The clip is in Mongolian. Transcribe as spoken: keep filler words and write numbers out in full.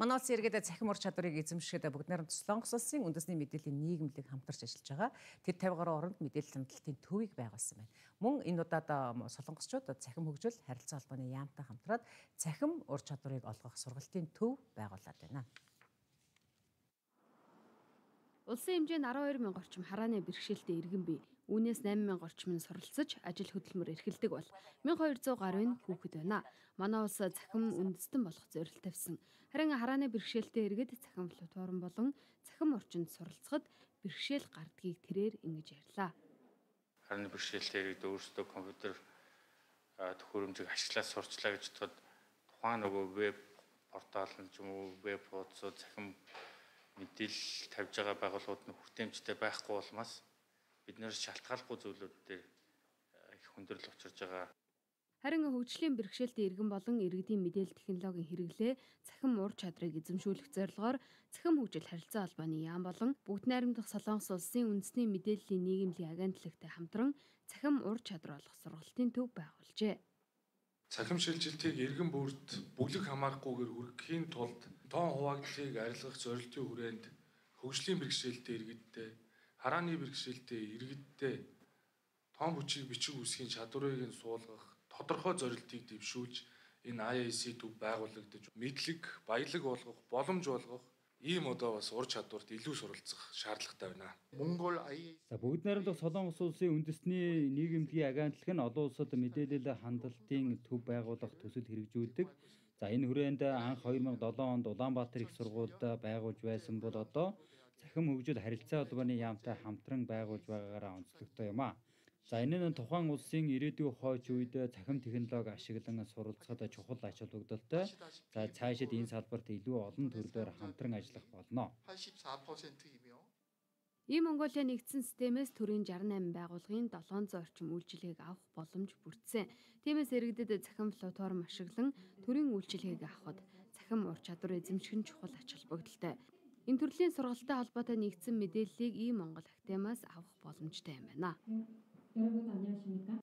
Манай улсын иргэдэд цахим ур чадварыг эзэмшихэд бүгд найрамд Солонгос улсын үндэсний мэдээллийн нийгэмлэг хамтарч ажиллаж байгаа. Тэр тавь гаруй оронд мэдээлэл хяналтын төвийг байгуулсан байна. Мөн энэ удаад солонгосчууд цахим хөгжил харилцаа холбооны яамтай хамтраад цахим ур чадварыг олгох сургалтын төв байгуулад байна. Улсын хэмжээнд арван хоёр мянга орчим харааны бэрхшээлтэй иргэн бий. Үүнээс найман мянга орчим нь суралцж ажил хөдөлмөр эрхэлдэг бол мянга хоёр зуун гаруй нь хүүхэд байна. Манай улс цахим үндэстэн болох зорилт тавьсан. Харин харааны бэрхшээлтэй иргэд цахим платформ болон цахим орчинд суралцахад бэрхшээл гардгийг тэрээр ингэж ярьлаа. Харааны бэрхшээлтэй иргэд өөрсдөө компьютер төхөөрөмжийг ашиглаад сурчлаа гэж бодоход тухайн нөгөө веб портал нь ч юм уу веб хуудсууд цахим мэдээлэл тавьж байгаа байгууллагууд нь хүртээмжтэй байхгүй болмаас бид нэр шалтгааллахгүй зүйлүүд дээр их хүндрэл учирж байгаа. Харин хөгжлийн бэрхшээлтэй иргэн болон иргэдийн мэдээлэл технологийн хэрэглээ цахим ур чадрыг эзэмшүүлэх зорилгоор цахим хөгжил харилцаа холбооны яам болон бүгд найрамдах Солонгос улсын үндэсний мэдээллийн нийгэмлэгийн агентлагтай хамтран цахим ур чадвар олох сургалтын төв байгуулжээ. Цахим шилжилтийг иргэн бүрд бүлэг хамаарахгүйгээр хүргэхийн тулд тоон хуваагдлыг арилгах зорилтын хүрээнд хөгжлийн бэрхшээлтэй иргэдтэй, харааны бэрхшээлтэй иргэдтэй тоон бүчиг бичиг үсгийн чадварыг нь суулгах тодорхой зорилтыг дэвшүүлж энэ ай эй си төв байгуулагдаж мэдлэг, баялаг болгох, боломж болгох ийм одоо бас ур чадварт илүү суралцах шаардлагатай байна. Монгол ай эй си За бүгд найрамдах Солонгос улсын үндэсний нийгэмлэгийн агентлаг нь олон улсад мэдээлэл хандлтын төв байгуулах төсөл хэрэгжүүлдэг. За энэ хүрээнд анх хоёр мянга долоон онд Улаанбаатар их сургуульд байгуулж байсан бол одоо цахим хөгжил харилцаа холбооны яамтай хамтран байгуулж байгаагаараа онцлогтой юм а. За энэ нь тухайн улсын ирээдүйн хойч үед цахим технологи ашиглан суралцахад чухал ач холбогдолтой. За цаашид энэ салбарт илүү олон төрлөөр хамтран ажиллах болно. 팔십사 퍼센트이며 Ийм Монголын нэгдсэн системээс төрийн шестьдесят восемь байгууллагын долоон зуун орчим үйлчилгээг авах боломж бүрдсэн. Тиймээс иргэдэд цахим платформ ашиглан төрийн үйлчилгээг авахд цахим ур чадвар эзэмших нь чухал ач холбогдолтой. Энэ төрлийн сургалттай холбоотой нэгдсэн мэдээллийг ийм Монгол Академиас авах боломжтой юм байна. 여러분 안녕하십니까?